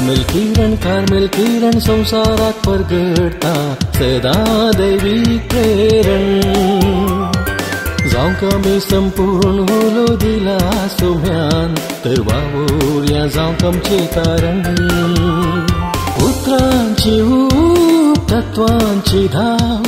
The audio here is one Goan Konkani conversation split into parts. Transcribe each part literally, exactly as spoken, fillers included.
कार्मेल किरण कार्मेल किरण संवसाराक परगडटा सदां दैवीक प्रेरण जावंक आमी संपूर्ण उलो दिला सोम्यान तर वावुरया जावंक आमचें कारण उतरांची ऊब तत्वांची धाव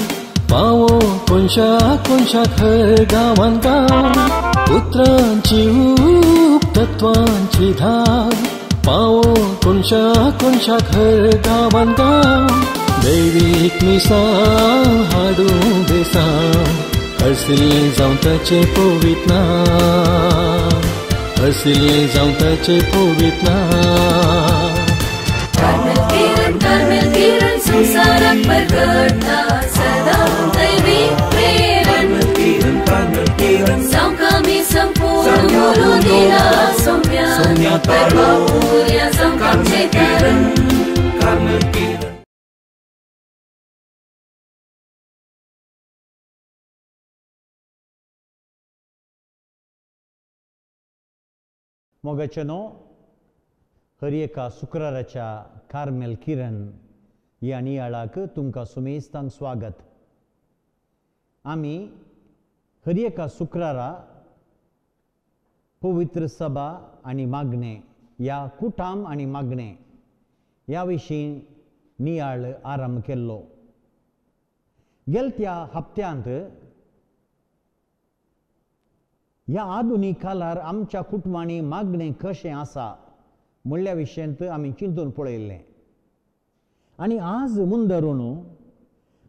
पावो कोनशा कोनशाक हर गांवान गांव उतरांची ऊब तत्वांची धाव पावो कोनशा कोनशाक हर गांवान गांव दैवीक मिसां हाडूं बेसांव हरसिल्लें जावं ताचें पवित्र नांव हरसिल्लें जावं ताचें पवित्र नांव. कार्मेल किरण कार्मेल किरण संवसाराक परगडटा सदां दैवीक प्रेरण जावंक आमी संपूर्ण उलो दिला सोम्यान तर वावुरया जावंक आमचें कारण. मोगाचेनो हर एका शुक्राराच्या कार्मेल किरण ह्या नियाळाक तुमकां सुमेस्तांक स्वागत. आमी हर एका शुक्रारा पवित्र सभा आनी मागणें ह्या कुटाम आनी मागणें ह्या विशीं नियाळ आरंभ केल्लो. गेलत्या हप्त्यांत ह्या आधुनीक काळार आमच्या कुटुंबांनी मागणें कशें आसा म्हणल्या विशयांत आमी चिंतून पळयल्लें आनी आज मुंदरून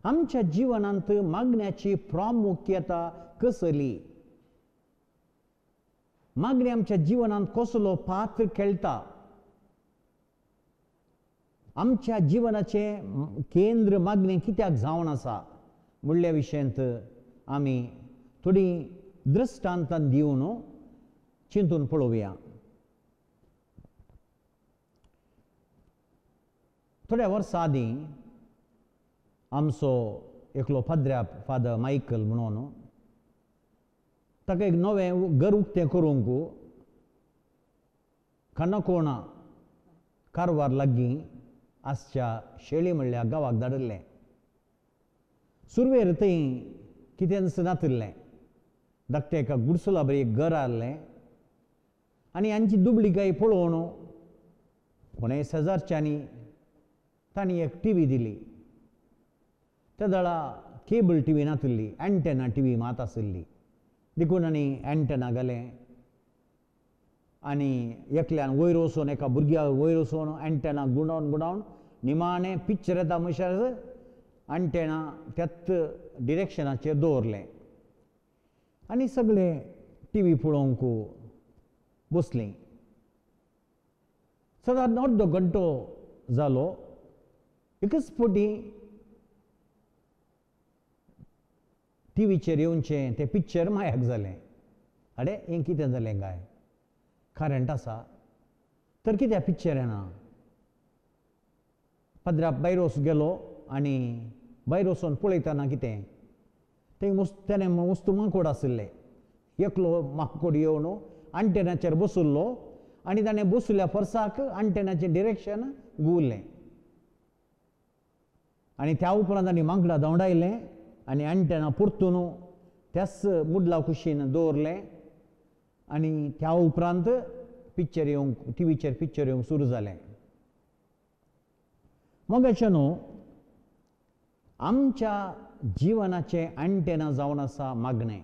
आमच्या जिवनांत मागण्याची प्रामुख्यता कसली, मागणें आमच्या जिवनांत कसलो पात्र खेळटा, आमच्या जिवनाचें केंद्र मागणें कित्याक जावन आसा म्हणल्या विशयांत आमी थोडी दृश्टांतान दिवन चिंतून पळोवया. थोड्या वर्सां आदीं आमचो एकलो फादऱ्या फादर मायकल म्हणून ताका एक नवें घर उक्तें करूंक काणकोणा कारवार लागीं आसच्या शेळी म्हणल्या गांवाक धाडिल्लें. सुरवेर थंय कितेंच नातिल्लें, धाकटें एका गुडसुला बरी एक घर आहलें आनी हांची दुबळी गाय पळोवन कोणेय शेजारच्यांनी तांणी एक टी व्ही दिली. त्या वेळा केबल टी व्ही नातिल्ली, एंटेना टी व्ही मात आशिल्ली, देखून आनी एंटेना घालें आनी एकल्यान वयर वचून एका भुरग्या वयर वचून एंटेना गुंडावन गुंडावन निमाणें पिक्चर येता म्हणसर एंटेना त्याच डिरेक्शनाचेर दवरलें आनी सगळे टी व्ही पळोवंक बसलीं. सादारण अर्दो घंटो जालो, एकच फावटी टी व्हीचेर येवचें तें पिक्चर मायाक जालें. आडे हें कितें जालें काय, करंट आसा तर कित्याक पिक्चर येना. पाद्रा भायर वच गेलो आनी भायर वचून पळयतना कितें तें मुस्त तेणें मुस्त माकोड आशिल्ले, एकलो माकोड येवन आंटेनाचेर बशिल्लो आनी ताणें बशिल्ल्या फोर्साक आंटेनाचें डिरेक्शन घुंवलें आनी त्या उपरांत ताणें माकडां धांवडायलें आनी आंटेना परतून त्याच मुडला कुशीन दवरलें आनी त्या उपरांत पिक्चर येवंक टी व्हीचेर पिक्चर येवंक सुरू जालें. मोगाचें न्हू आमच्या जिवनाचें एंटेना जावन आसा मागणें.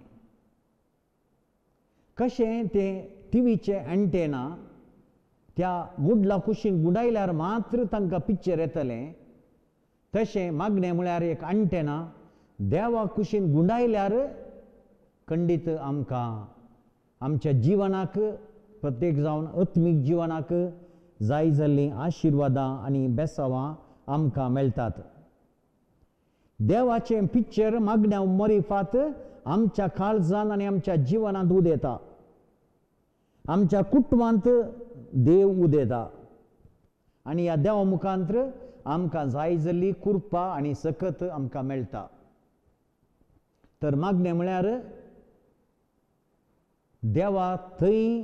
कशें तें टी व्हीचें एंटेना त्या मुडला कुशीन गुंडायल्यार मात्र तांकां पिक्चर येतलें, तशें मागणें म्हळ्यार एक एंटेना देवा कुशीन गुंडायल्यार खंडीत आमकां आमच्या जिवनाक प्रत्येक जावन आत्मीक जिवनाक जाय जाल्लीं आशिर्वादां आनी बेसावां आमकां मेळटात. देवाचें पिक्चर मागण्या मरिफात आमच्या काळजान आनी आमच्या जिवनांत उदेता, आमच्या कुटुंबांत देव उदेता आनी ह्या देवा मुखांत आमकां जाय जाल्ली कृपा आनी सकत आमकां मेळटा. तर मागणें म्हळ्यार देवा थंय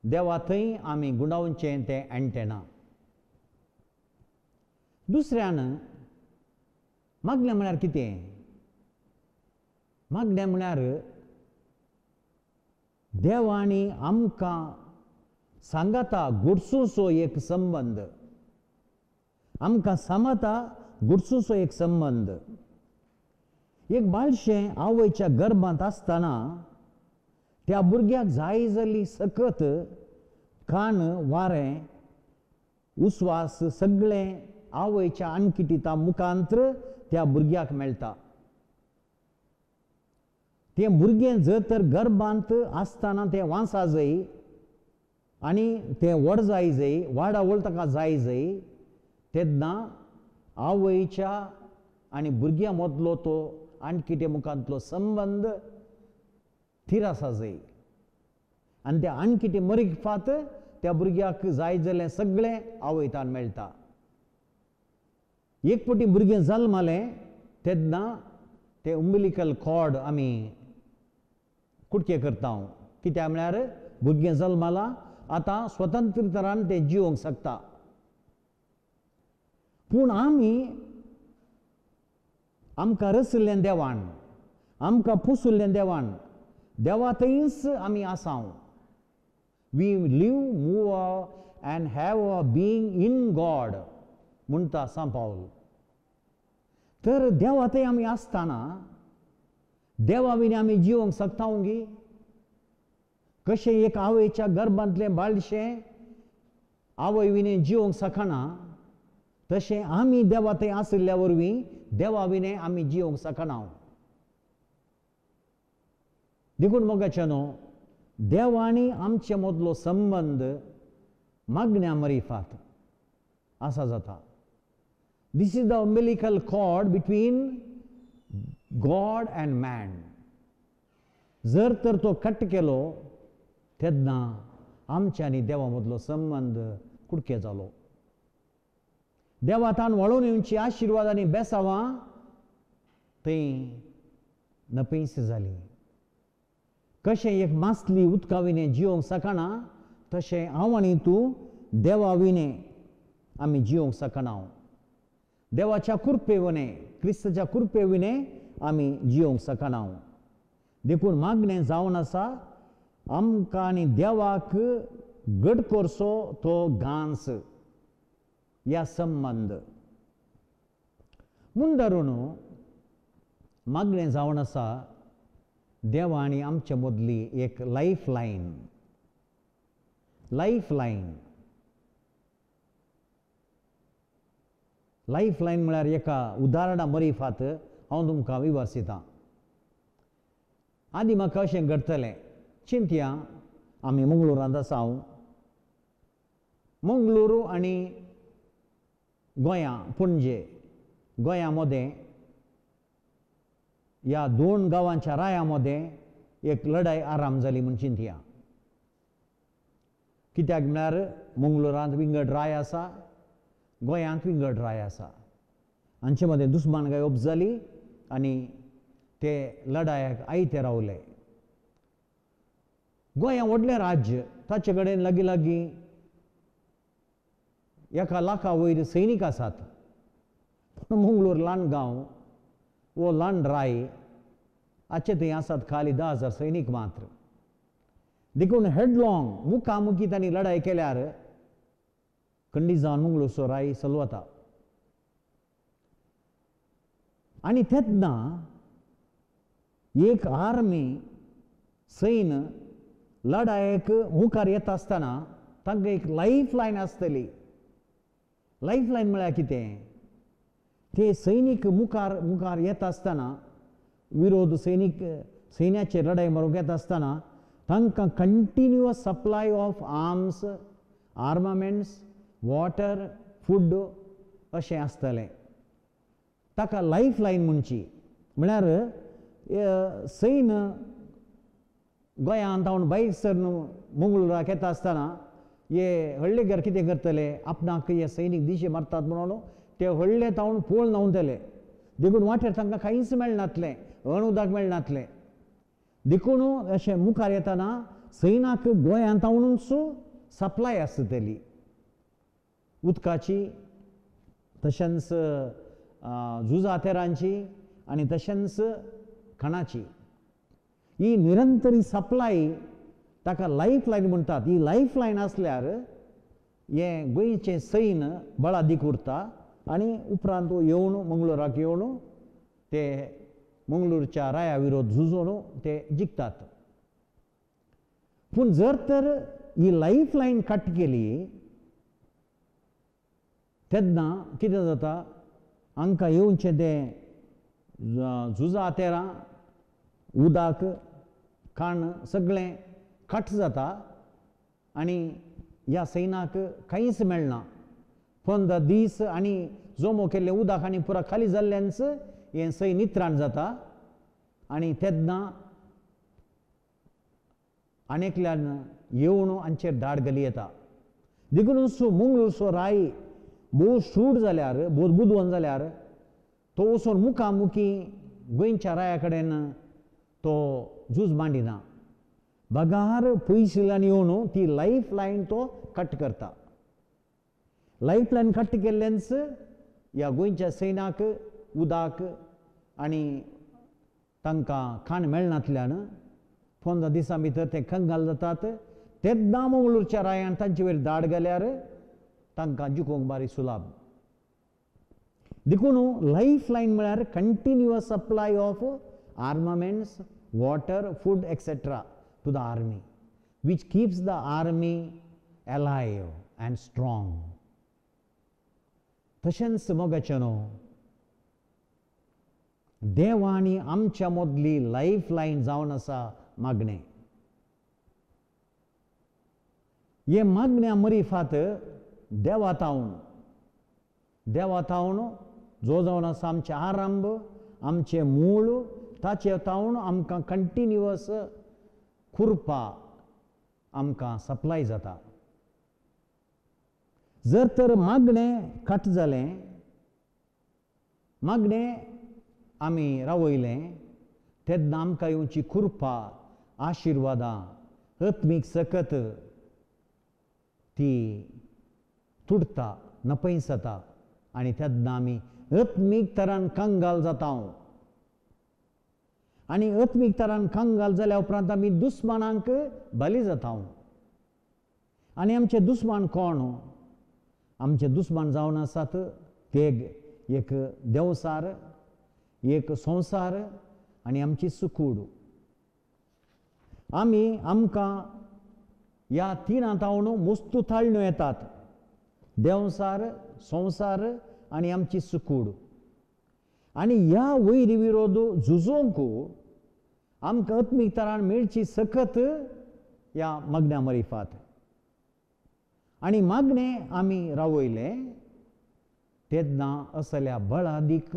देवा थंय आमी गुंडावचें तें अँटेना. दुसऱ्यान मागणें म्हळ्यार कितें? मागणें म्हळ्यार देवांनी आमकां सांगाता गुडसूचो एक संबंद, आमकां सांगाता गुडसूचो एक संबंद. एक बाळशें आवयच्या गर्भांत आसतना त्या भुरग्याक जाय जाल्ली सकत कान, वारें, उस्वास सगळें आवयच्या आणकिटिता मुखांत्र त्या भुरग्याक मेळटा. तें भुरगें जर तर गर्भांत आसतना तें वांसा जाय आनी तें व्हड जाय जाय, वाडावळ ताका जाय जाय, तेन्ना आवयच्या आनी भुरग्यां मदलो तो आणकिटे मुखांतलो संबंद थीर आसा जाय. आनी त्या आणकिटे मरिफात त्या भुरग्याक जाय जाल्लें सगळें आवयतान मेळटा. एक पटी भुरगें जल्मलें तेन्ना तें उम्बिलिकल कॉर्ड आमी कुटके करता. कित्याक म्हळ्यार भुरगें जल्मलां आतां स्वतंत्र तरान तें जिवंक शकता. पूण आमी आमकां रचिल्लें देवान, आमकां पुसुल्लें देवान, देवा थंयच आमी आसाव. We live, move and have a being in God म्हणटा सांत पावल. तर देवा थंय आमी आसतना देवा विणे आमी जिवंक शकता गी? कशें एक आवयच्या गर्भांतलें बाळशें आवय विणे जिवंक शकना, तशें आमी देवा थंय आशिल्ल्या वरवीं देवा विणे आमी जिवंक शकना. देखून मोगाचे न्हू, देवांनी आमचे मदलो संबंद मागण्या मरिफात आसा जाता. This is the umbilical cord between God and man. जर तर तो कट केलो तेन्ना आमच्या आनी देवा मदलो संबंद कुडके जालो. देवा तान वळोवन येवची आशिर्वाद आनी बेसावां थंय नपेंस जाली. कशें एक मासली उदका विणे जिवंक शकना, तशें हांव आनी तूं देवा विणे आमी जिवंक शकना. देवाच्या कृपे विणे, क्रिस्ताच्या कृपे विणे आमी जिवंक शकना. देखून मागणें जावन आसा आमकां आनी देवाक घट करचो तो गांस या संबंद. म्हूण धरून मागणें जावन आसा देवा आनी आमचे मदली एक life line. Life line life line म्हळ्यार एका उदाहरणा मरिफात हांव तुमकां विवर्सितां. आदी म्हाका अशें घडटलें, चिंतया आमी मंगळुरांत आसा. हांव मंगळुरू आनी गोंया, पणजे, गोंया मदें ह्या दोन गांवांच्या राया मदें एक लढाय आराम जाली म्हूण चिंतया. कित्याक म्हळ्यार मंगळुरांत विंगड राय आसा, गोंयांत विंगड राय आसा. हांचे मदें दुस्मानकाय उब जाली आनी ते लढायाक आयते रावले. गोंया व्हडलें राज्य, ताचे कडेन लागीं लागीं एका लाखा वयर सैनीक आसात. पूण मंगळूर ल्हान गांव, वो ल्हान राय, हाचे थंय आसात खाली धा हजार सैनीक मात्र. देखून हेडलॉंग मुखामुखी तांणी लढाय केल्यार खंडीत जावन मंगळूरचो राय चलवता. आनी तेन्ना एक आर्मी सैन लढायेक मुखार येता आसतना तांकां एक लायफ लायन आसतली. लायफ लायन म्हळ्यार कितें? ते सैनीक मुखार मुखार येता आसतना, विरोध सैनीक सैन्याचेर लढाय मारूंक येता आसतना तांकां continuous supply of arms, armaments, water, food अशें आसतलें. ताका लायफ लायन म्हणची. म्हळ्यार सैन गोंयांत हांव भायर सरन मंगळुराक येता आसतना हे हळ्ळेकार कितें करतले, आपणाक हे सैनीक दिशे मारतात म्हणून ते व्हडले तावन पोळ न्हांवतले. देखून वाटेर तांकां कांयच मेळनातलें, अण उदक मेळनातलें. देखून अशें मुखार येतना सैनाक गोंयांत तावनूच सप्लाय आसतली उदकाची, तशेंच झुजातेरांची आनी तशेंच खाणाची. ही निरंतरी सप्लाय ताका लायफ लायन म्हणटात. ही लायफ लायन आसल्यार हें गोंयचें सैन बळादीक उरता आनी उपरांत येवन मंगळूराक येवन ते मंगळूरच्या राया विरोध झुजोवन ते जिखतात. पूण जर तर ही लायफ लायन कट केली तेन्ना कितें जाता, हांकां येवचें तें झुजातेरां, उदक, खाण सगळें कट जाता आनी ह्या सैनाक कांयच मेळना. पंदरा दीस आनी जमो केल्लें उदक आनी पुरा खाली जाल्ल्यानच हें सैन नित्राण जाता आनी तेन्ना आनी एकल्यान येवन हांचेर धाड घाली येता. देखून मंगळूरचो राय भोव शूड जाल्यार, भोव बुदवंत जाल्यार तो वचून मुखामुखी गोंयच्या राया कडेन तो झूज मांडिना, बगार पयशिल्ल्यान येवन ती लायफ लायन तो कट करता. लायफ लायन कट केल्ल्यानच ह्या गोंयच्या सैनाक उदक आनी तांकां खाण मेळनातल्यान पंदरा दिसां भितर ते कंगाल जातात. तेन्ना मंगळूरच्या रायान तांचे वयर धाड घाल्यार तांकां जिखूंक बारी सुलाभ. देखून लायफ लायन म्हळ्यार continuous supply of armaments, water, food etcetera to the army, which keeps the army alive and strong. तशेंच मोगाचें न्हू, देवांनी आमच्या मदली लायफ लायन जावन आसा मागणें. हे मागण्या मरिफात देवा तावन, देवा तावन जो जावन आसा आमचें आरंभ, आमचें मूळ, ताचे तावन आमकां कंटिन्युअस खुरपा आमकां सप्लाय जाता. जर तर मागणें कट जालें, मागणें आमी रावयलें, तेन्ना आमकां येवची खुरपा, आशिर्वादां, आत्मीक सकत ती तुटता, नपयसता आनी तेन्ना आमी आत्मीक तरान कंगाल जाता. आनी आत्मीक तरान कंगाल जाल्या उपरांत आमी दुस्मानांक बली जाता. आनी आमचे दुस्मान कोण? आमचे दुस्मान जावन आसात ते एक देंवसार, एक संवसार आनी आमची सुकूड. आमी आमकां ह्या तिनां तावन मुस्तू ताळण्यो येतात, देंवसार, संवसार आनी आमची सुकूड. आनी ह्या वैरी विरोध झुजोवंक आमकां आत्मीक तरान मेळची सकत ह्या मागण्या मरिफात. आनी मागणें आमी रावयलें तेन्ना असल्या बळादीक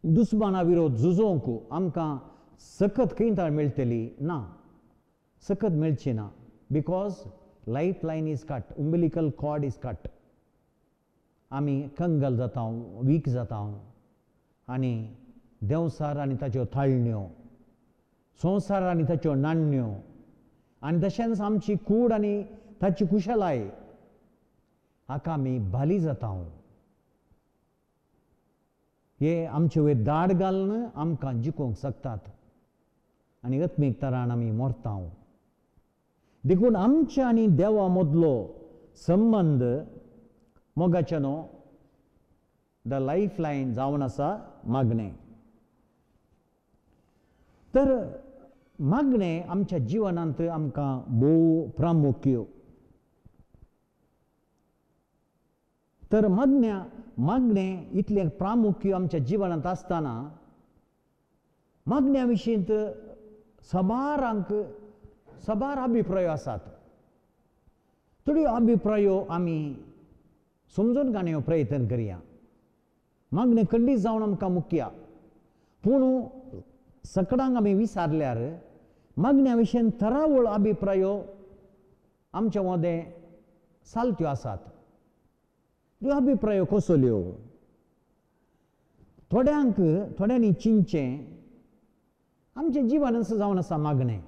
दुस्माना विरोध झुजोवंक आमकां सकत खंय मेळटली ना, सकत मेळची ना. Because life line is cut, umbilical cord is cut. आमी कंगाल जाता, वीक जाता आनी देंवसार आनी ताच्यो थाळण्यो, संवसार आनी ताच्यो नाण्ण्यो आनी तशेंच आमची कूड आनी ताची कुशलाय हाका आमी बाली जाता. हे आमचे वयर दाड घालून आमकां जिखोवंक शकतात आनी आत्मीक तरान आमी मरता. देखून आमच्या आनी देवा मदलो संबंद मोगाचे न्हू, the life line जावन आसा मागणें. तर मागणें आमच्या जिवनांत आमकां भोव प्रामुख्य. तर मागण्या मागणें इतलें प्रामुख्य आमच्या जिवनांत आसतना मागण्या विशींत साबारांक साबार अभिप्रायो आसात. थोड्यो अभिप्रायो आमी समजून काडूंक प्रयत्न करया. मागणें खंडीत जावन आमकां मुख्य, पूण सकडांक आमी विचारल्यार मागण्या विशीं थरावळ अभिप्रायो आमच्या मदें चालत्यो आसात. त्यो अभिप्रायो कसल्यो? थोड्यांक थोड्यांनी चिंतचें आमचें जिवनच जावन आसा मागणें,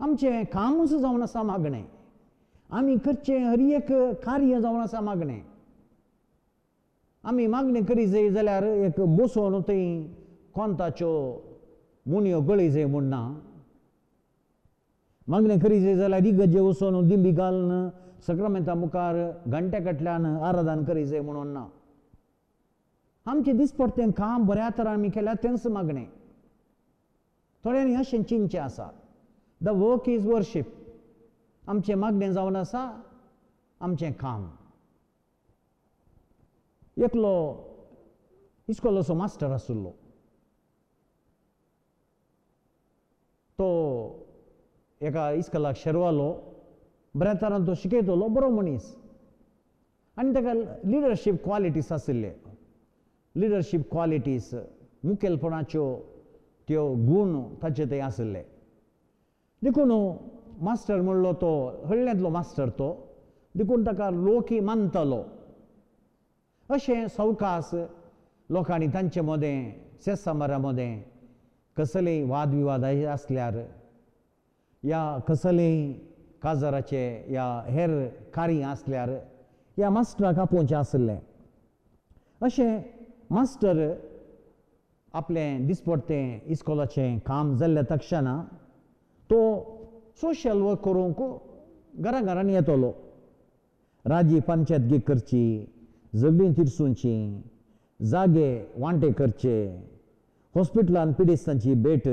आमचें कामूच जावन आसा मागणें, आमी करचें हर एक कार्य जावन आसा मागणें. आमी मागणें करी जाय जाल्यार एक बसोवन थंय कोंताच्यो मुणयो गळी जाय म्हूण ना. मागणें करी जाय जाल्यार इगर्जे वचून दिंबी घालून सक्रमेंता मुखार घंट्या कडल्यान आराधन करी जाय म्हणून ना. आमचें दिसपडटें काम बऱ्या तरान आमी केल्यार तेंच मागणें. थोड्यांनी अशें चिंतचें आसा, the work is worship. आमचें मागणें जावन आसा आमचें काम. एकलो इस्कोलाचो मास्टर आशिल्लो, तो एका इस्कोलाक शेरवालो, बऱ्या तरान तो शिकयतलो, बरो मनीस आनी ताका लिडरशीप क्वॉलिटीज आशिल्ले. लिडरशीप क्वॉलिटीज मुखेलपणाच्यो त्यो गूण ताचे थंय आशिल्ले. देखून मास्टर म्हणलो तो हळ्ळ्यांतलो मास्टर तो, देखून ताका लोकय मानतालो. अशें सवकास लोकांनी तांचे मदें सेसामारा मदें कसलेय वादविवाद आसल्यार या कसलेय काजाराचे या हेर कार्य आसल्यार ह्या मास्टराक आपोवचें आशिल्लें. अशें मास्टर आपलें दिसपडटें इस्कोलाचें काम जाल्ल्या तक्षणा तो सोशल वर्क करूंक घरा घरांनी येतलो. राजी पंचायतगी करची, झगडीं तिरसुची, जागे वांटे करचे, हॉस्पिटलान पिडेस्तांची भेट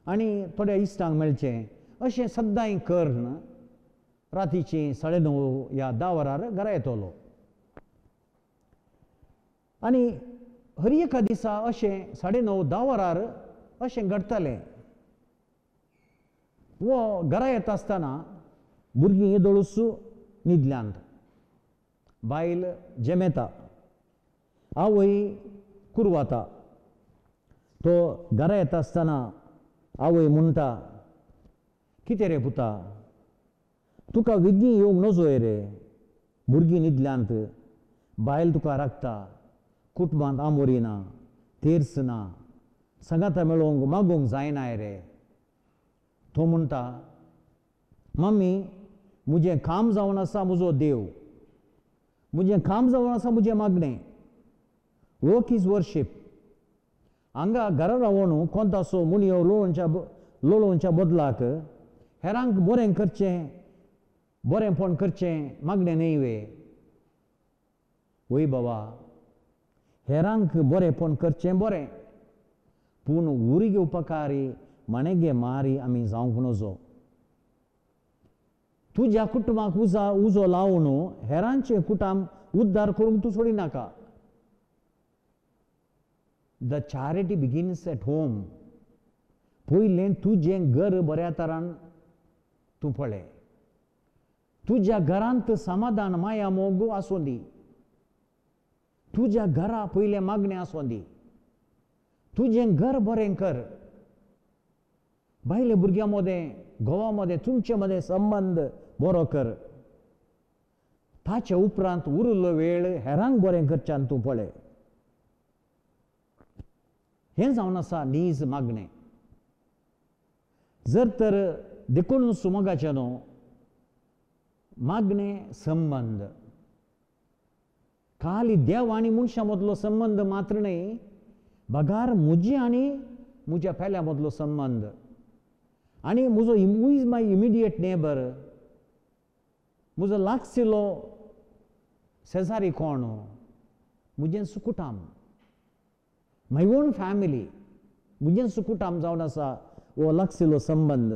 आनी थोड्या इश्टांक मेळचें, अशें सद्दांय करून रातीचीं साडे णव या धा वरार घरा येतलो. आनी हर एका दिसा अशें साडे णव धा वरार अशें घडटालें. वो घरा येता आसतना भुरगीं येदोळूच न्हिदल्यांत, बायल जेमेता, आवय कुरवाता. तो घरा येता आसतना आवय म्हणटा, कितें रे पुता, तुका वेगीं येवंक नजोय रे, भुरगीं न्हिदल्यांत, बायल तुका राखता, कुटुंबांत आमोरी ना, तेर्स ना, सांगाता मेळोवंक मागूंक जायनाय रे. तो म्हणटा, मम्मी म्हजें काम जावन आसा म्हजो देव, म्हजें काम जावन आसा म्हजें मागणें. Work is worship. हांगा घरा रावन कोणतासो मुणयो लोळोवच्या लोळोवच्या बदलाक हेरांक बरें करचें, बरेंपण करचें मागणें न्हय वे. वय बाबा, हेरांक बरेंपण करचें बरें, पूण उरी घेवपाकारी माणेगे मारी आमी जावंक नजो. तुज्या कुटुंबाक उजा उजो लावन हेरांचें कुटुंब उद्धार करूंक तूं सोडिनाका. The charity begins at home. पयलें तुजें घर बऱ्या तरान तूं पळय, तुज्या घरांत समाधान माया मोग आसूं दी, तुज्या घरा पयलें मागणें आसूं दी, तुजें घर बरें कर. बायले भुरग्यां मदें, घोवा मदें, तुमचे मदें संबंद बरो कर. ताचे उपरांत उरिल्लो वेळ हेरांक बरें करच्यान तूं पळय. हें जावन आसा नीज मागणें. जर तर देखून सुमगाचें न्हू मागणें संबंद खाली देव आनी मनशां मदलो संबंद मात्र न्हय, बगार म्हजी आनी म्हज्या पेल्या मदलो संबंद आनी म्हजो who is my immediate neighbour, म्हजो लागशिल्लो शेजारी कोण, म्हजें सुकुटाम, my own family, म्हजें सुकुटाम जावन आसा हो लागशिल्लो संबंद.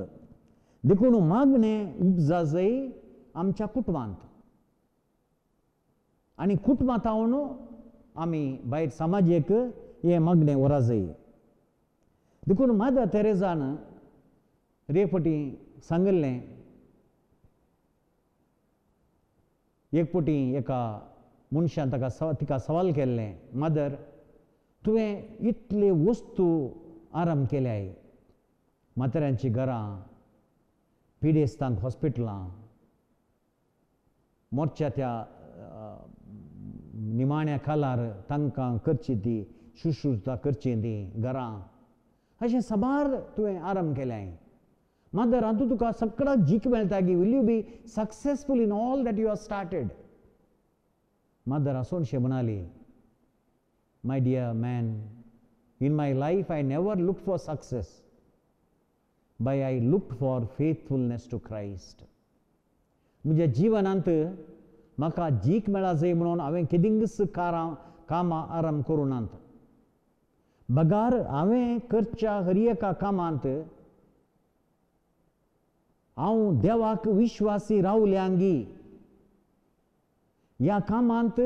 देखून मागणें उपजा जाय आमच्या कुटुंबांत आनी कुटुंबांत हांव आमी भायर समाजेक हें मागणें व्हरा जाय. देखून मादर तेरेजान रे फावटी सांगिल्लें, एक फावटी एका मनशान ताका तिका सवाल केल्लें, मदर तुवें इतले वस्तू आराम केल्याय, म्हाताऱ्यांचीं घरां, पिडेस्तांक हॉस्पिटलां, मोर्च्या त्या निमाण्या कालार तांकां करची ती शुश्रूषा करची ती घरां, अशें साबार तुवें आरंभ केलें. मदर हातूंत तुका सगळो जीक मेळटा की will you be successful in all that you are started. Mother आसोनशें म्हणाली, my dear man, in my life I never look for success, but I look for faithfulness to Christ. म्हज्या जिवनांत म्हाका जीक मेळा जाय म्हणून हांवें केदिंगच कारां कामां आरंभ करूं नात, बगार हांवें करच्या हर एका कामांत हांव देवाक विश्वासी रावल्यांगी. ह्या कामांत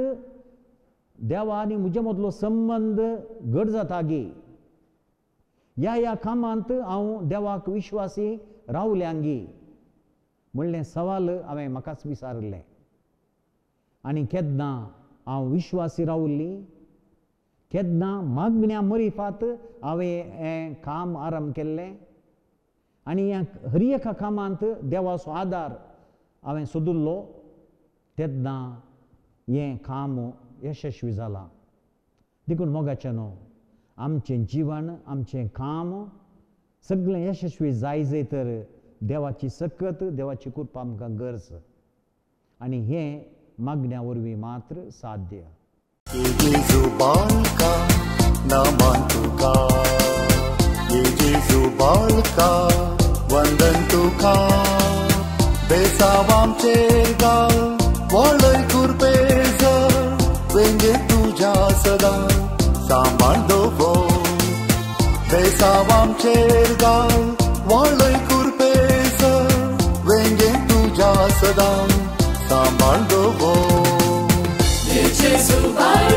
देवा आनी म्हजे मदलो संबंद घट जाता गी, ह्या ह्या कामांत हांव देवाक विश्वासी रावल्यांगी म्हणलें सवाल हांवें म्हाकाच विचारिल्लें. आनी केन्ना हांव विश्वासी रावल्ली, केन्ना मागण्या मरिफात हांवें हें काम आरंभ केल्लें आनी ह्या हर एका कामांत देवाचो आदार हांवें सोदिल्लो, तेन्ना हें काम यशस्वी जालां. देखून मोगाचें न्हू, आमचें जिवन आमचें काम सगळें यशस्वी जाय जाय तर देवाची सकत देवाची कृपा आमकां गरज, आनी हें मागण्या वरवीं मात्र साध्य. जेजू बालका नमन तुका, जेजू बालका वंदन तुका, बेसाव आमचेर गाल वळय कुरपेज, वेंगे तुज्या सदां सांबाळ दवर, बेसाव आमचेर गाल वळय कुरपेज, वेंगे तुज्या सदां सांबाळ दवर. जेजू बालका